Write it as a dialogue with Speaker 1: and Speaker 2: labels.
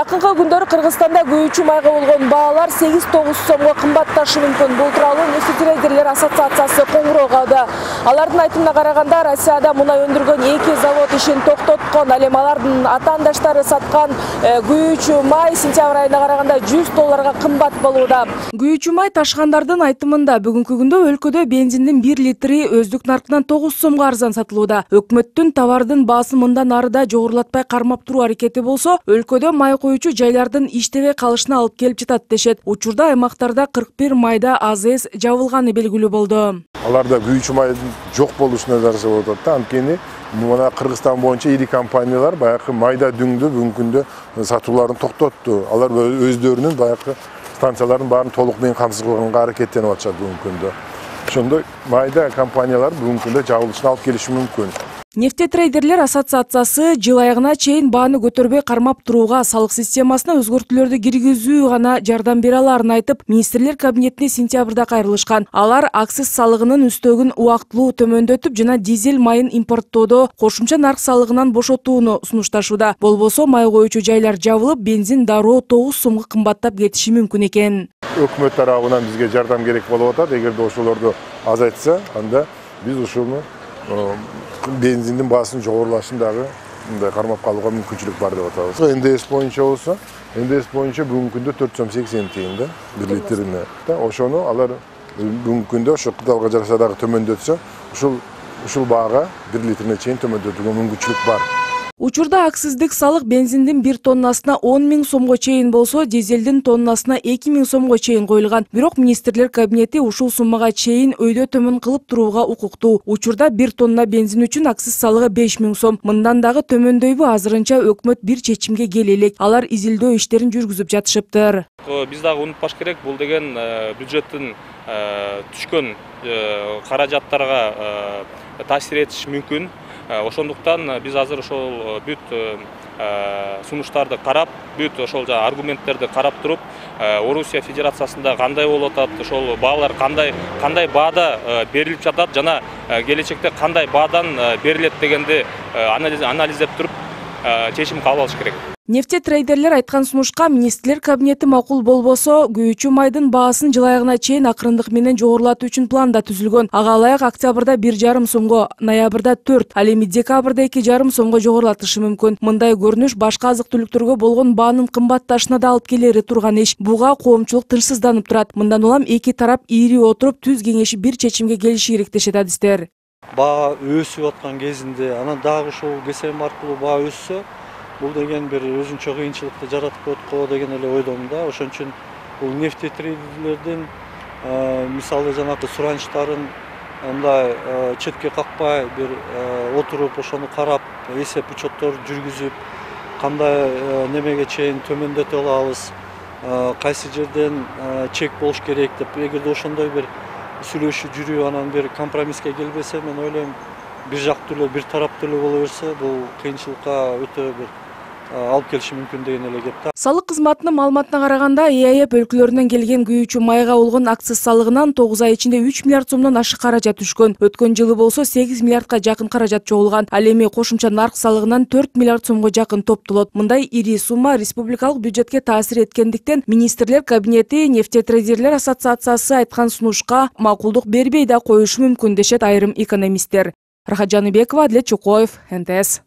Speaker 1: Жакынкы күндөрү Кыргызстанда күйүүчү майга болгон баалар 8-9 сомго кымбатташы мүмкүн. Бул тууралуу нефтетрейдерлер ассоциациясы коңгуроо калды. Алардын айтымына караганда, Россияда мунай өндүргөн 2 завод ишин токтоткон. Ал эми алардын атаандаштары саткан күйүүчү май сентябрь айына караганда $100 кымбат болууда. Күйүүчү май ташкандардын айтымында бүгүнкү күндө өлкөдө бензиндин 1 литри өздүк наркынан 9 сомго арзан сатылууда. Өкмөттүн товардын баасын мындан ары да жогорулатпай кармап туруу аракети болсо, өлкөдө май коюучу жайлардын иштебей калышына алып келип жатат дешет. Учурда аймактарда 41 майда АЗС жабылганы белгилүү болду.
Speaker 2: Аларда күйүүчү майдын жок болушуна жараша болуп атат да. Анткени мына Кыргызстан боюнча ири компаниялар баягы майда дүңдү бүгүнкү күндө сатууларын токтотту. Алар өздөрүнүн баягы станцияларын баарын толук менен камсыз кылганга аракеттенип атышат бүгүнкү күндө. Ошондой майда компаниялар бүгүнкү күндө жабылышына алып келиши мүмкүн.
Speaker 1: Нефтетрейдерлер ассоциациясы жыл айыгына чейин бааны көтөрбөй кармап турууга, салык системасына өзгөртүүлөрдү киргизүү гана жардам бере аларын айтып, министрлер кабинетине сентябрда кайрылышкан. Алар акциз салыгынын үстөгүн убактылуу төмөндөтүп жана дизель майын импорттоодо кошумча нарк салыгынан бошотууну сунушташууда. Болбосо май коюучу жайлар жабылып, бензин дароо 9 сомго кымбаттап кетиши мүмкүн экен.
Speaker 2: Өкмөт тарабынан бизге жардам керек болуп атат. Эгерде ошолорду азайтса, анда биз ушуну бензиндин баасын жогорулашын дагы мындай кармап калууга мүмкүнчүлүк бар деп атабыз. НДС боюнча болсо, НДС боюнча бүгүнкү күндө 4,80 тыйын да 1 литрине. Ошону алар бүгүнкү күндө ошо кыдалга жараша дагы төмөндөтсө, ушул баага 1 литрине чейин төмөндөтүүгө мүмкүнчүлүк бар.
Speaker 1: Учурда акциздик салык бензиндин 1 тоннасына 10 000 сомго чейин болсо, дизелдин тоннасына 2 000 сомго чейин коюлган. Бирок министрлер кабинети ушул суммага чейин өйдө төмөн кылып турууга укуктуу. Учурда 1 тонна бензин үчүн акциз салыгы 5 000 сом. Мындан дагы төмөндөйбү, азырынча өкмөт бир чечимге келе элек. Алар изилдөө иштерин жүргүзүп жатышыптыр.
Speaker 3: Биз дагы унутпаш керек, бул деген бюджеттин түшкөн каражаттарга таасир этиши мүмкүн. Ошондуктан биз азыр ошол бүт сунуштарды карап, бүт ошол аргументтерди карап туруп, Орусия Федерациясында кандай болуп атат, ошол баалар кандай баада берилип жатат жана келечекте кандай баадан берилет дегенди анализдеп туруп чечим кабыл алыш керек.
Speaker 1: Нефтетрейдерлер айткан сунушка министрлер кабинети макул болбосо, күйүүчү майдын баасын жыл айыгына чейин акырындык менен жогорулатуу үчүн план да түзүлгөн. Ага ылайык октябрда 1,5 сомго, ноябрда 4, ал эми декабрда 2,5 сомго жогорулатышы мүмкүн. Мындай көрүнүш башка азык-түлүктөргө болгон баанын кымбатташына да алып келери турган иш. Буга коомчулук тынчсызданып турат. Мындан улам эки тарап ири отуруп түз кеңешип бир чечимге келиши керек дешет адистер.
Speaker 4: Баа өсүп аткан кезинде, анан дагы ушул КСМ аркылуу баа өссө, бул деген бир өзүнчө кыйынчылыкты жаратып коет го деген эле ойдомун да. Ошон үчүн бул нефтетрейдерлердин мисалы жанагы суранычтарын мындай четке какпай бир отуруп, ошону карап, эсеп учеттор жүргүзүп, кандай немеге чейин төмөндөтө алабыз, кайсы жерден чек болуш керек деп, эгерде ошондой бир сүйлөшүү жүрүү, анан бир компромисске келбесе, мен ойлойм, бир жактуу эле, бир тараптуу эле боло берсе, бул кыйынчылыкка өтө бир алып келиши мүмкүн деген эле кеп да.
Speaker 1: Салык кызматынын маалыматына караганда, ЕАЭП өлкөлөрүнөн келген күйүүчү майга болгон акциз салыгынан 9 ай ичинде 3 миллиард сомдон ашык каражат түшкөн. Өткөн жылы болсо 8 миллиардка жакын каражат чогулган. Ал эми кошумча нарк салыгынан 4 миллиард сомго жакын топтолот. Мындай ири сумма республикалык бюджетке таасир эткендиктен, министрлер кабинети Нефтетрейдерлер ассоциациясы айткан сунушка макулдук бербей да коюшу мүмкүн дешет айрым экономисттер. Рахат Жаныбекова, Адлет Чокоев, НТС.